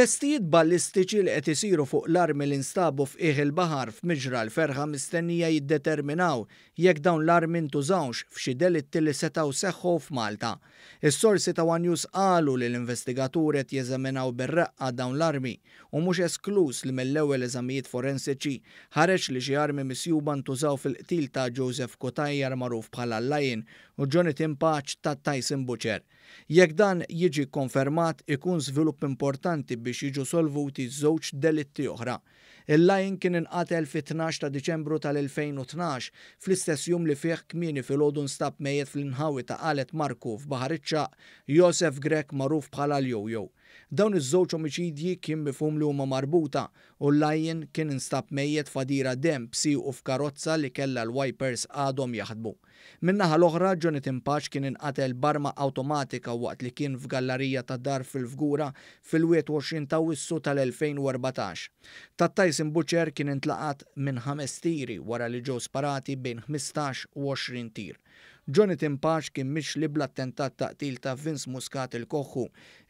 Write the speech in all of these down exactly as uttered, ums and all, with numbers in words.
Testijiet ballistiċi li qed isiru fuq l-armi li nstabu f'qiegħ il-baħar f'Miġra l-Ferħa mistennija jiddeterminaw jekk dawn l-armi ntużawx f'xi delitti li setgħu seħħu f'Malta. Is-sorsi ta' One News qalu li l-investigaturi qed jeżaminaw bir-reqqa dawn l-armi u mhux esklus li mill-ewwel eżamijiet forensiċi ħareġ li xi armi misjuba ntużaw fil-qtil ta' Joseph Cutajar, magħruf bħala Lion, u Jonathan Pace ta' Tyson Butcher. Jekk dan jiġi konfermat, ikun żvilupp importanti biex jiġu solvuti żewġ delitti oħra. Il-Lion kien inqatel fit-tnax ta' Diċembru tal-elfejn u tnax, fl-istess jum li fih kmieni filgħodu nstab mejjet fl-inħawi ta' Qalet Marku f'Baħar iċ-Ċagħaq Josef Grech, magħruf bħala l-Jojo. Dawn iż-żewġ omiċidji kien mifhum li huma marbuta u l-Lion kien instab mejjet f'għadira demm b'siequ f'karozza li kellha l-wipers għadhom jaħdmu. Min-naħa l-oħra, Jonathan Pace kien inqatel b'arma awtomatika waqt li kien f'gallarija ta' dar fil-Fgura fil-wieħed u għoxrin ta' Awwissu tal-elfejn u erbatax. Ta' Tyson Butcher kien intlaqat minn ħames tiri wara li ġew sparati bejn ħmistax u għoxrin tir. Jonathan Pace kien mixli bl-attentat ta' qtil ta' Vince Muscat il-Koħħu,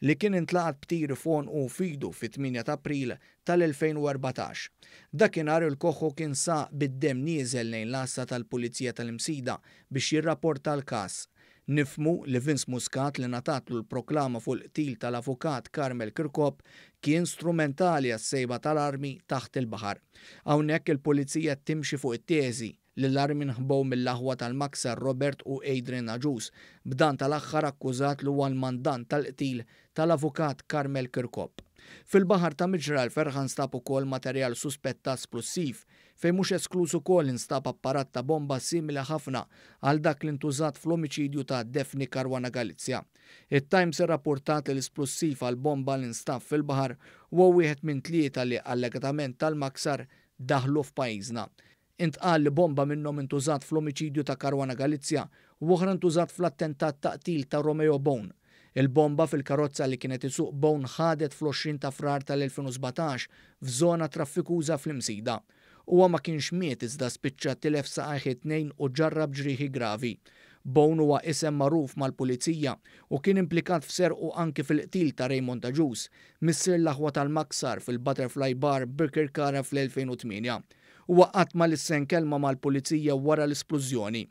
li kien intlaqat b'tiri f'għonqu u f'idu fit-tmienja ta' April tal-elfejn u erbatax. Dakinhar il-Koħħu kien saq bid-dem nieżel lejn l-għassa tal-Pulizija tal-Imsida biex jirrapporta l-każ. Nifhmu li Vince Muscat, li ngħatatlu l-proklama fuq il-qtil tal-avukat Carmel Kirkop, kien strumentali għas-sejba tal-armi taħt il-baħar. Hawnhekk il-pulizija timxi fuq it-teżi li l-armi nħbow mill-aħwa tal-Maksar Robert u Adrian Agius, b'dan tal-aħħar akkużat li huwa l-mandant tal-qtil tal-avukat Carmel Kirkop. Fil-baħar ta' Miġra l-Ferħa nstab ukoll materjal suspettat splussiv, fejn mhux esklus ukoll instab apparat ta' bomba simili ħafna għal dak li ntużat fl-omiċidju ta' Daphne Caruana Galizia. It-Times irrapportat li l-isplussiv għal bomba li nstab fil-baħar huwa wieħed minn tlieta li allegatament tal-Maksar daħlu f'pajjiżna. Intqal li bomba minnhom intużat fl-omiċidju ta' Caruana Galizia u oħra ntużat fl-attentat ta' qtil ta' Romeo Bone. Il-bomba fil-karozza li kienet isuq Bone ħadet fl-għoxrin ta' Frar tal-elfejn u sbatax f'żona traffikuża fl-Imsida. Huwa ma kienx miet, iżda spiċċa tilef saqajh it-tnejn u ġarrab ġrieħi gravi. Bone huwa isem magħruf mal-pulizija u kien implikat f'serq u anki fil-qtil ta' Raymond Agius, missier l-aħwa tal-Maksar, fil-Butterfly Bar Birkirkara fl-elfejn u tmienja. Huwa qatt ma lissen kelma mal-pulizija wara l-isplużjoni.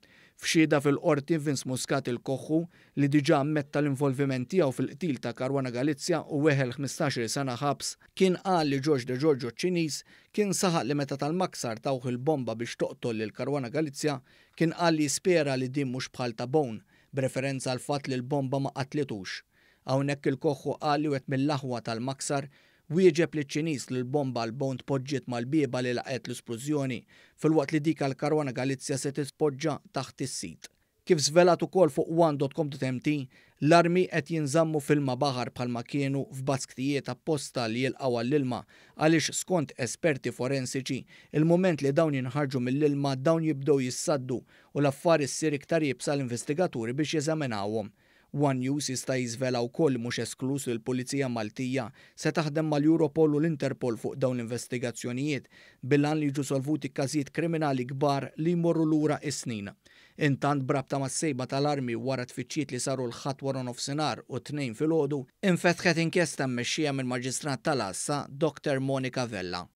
F'xhieda fil-qorti, Vince Muscat il-Koħħu, li diġà ammetta l-involviment tiegħu fil-qtil ta' Caruana Galizia u weħel ħmistax-il sena ħabs, kien qal li George De Giorgio Ċiniż kien saħaq li meta tal-Maksar tawh il-bomba biex toqtol lil Caruana Galizia, kien qal li jispera li din mhux bħal ta' Bone, b'referenza għal fatt li l-bomba ma qatlitux. Hawnhekk il-Koħħu qal li wieħed mill-aħwa tal-Maksar wieġeb li Ċiniż li l-bomba għal Bone tpoġġiet mal-bieba li laqgħet l-isplużjoni, filwaqt li dik għal Caruana Galizia se titpoġġa taħt is-seat. Kif żvelat ukoll fuq one punt com punt M T, l-armi qed jinżammu f'ilma baħar bħalma kienu f'basktijiet apposta li jilqgħu għall-ilma, għaliex skont esperti forensiċi, il-moment li dawn jinħarġu mill-ilma dawn jibdew jissaddu u l-affari ssir iktar iebsa l-investigaturi biex jeżaminawhom. One News jista' jiżvela wkoll mhux esklus li l-Pulizija Maltija se taħdem mal-Europol u l-Interpol fuq dawn l-investigazzjonijiet bil-għan li jiġu solvuti każijiet kriminali kbar li jmorru lura is-snin. Intant, b'rabta mas-sejba tal-armi, wara tfittxiet li saru l-Ħadd wara nofsinhar u t-Tnejn filgħodu, infetħet inkjesta mmexxija mill-Maġistrat tal-Għassa Doctor Monica Vella.